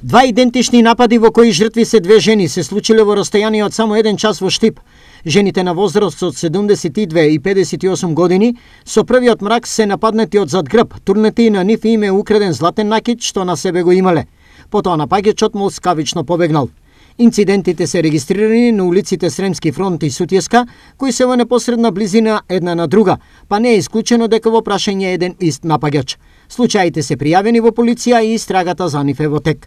Два идентични напади во кои жртви се две жени се случиле во растојание од само 1 час во Штип. Жените на возраст од 72 и 58 години со првиот мрак се нападнати од зад грб, турнети на нив им е украден златен накид што на себе го имале. Потоа напаѓачот му скавично побегнал. Инцидентите се регистрирани на улиците Сремски фронт и Сутјеска, кои се во непосредна близина една на друга, па не е исклучено дека во прашање еден ист напаѓач. Случаите се пријавени во полиција и истрагата за нив е во тек.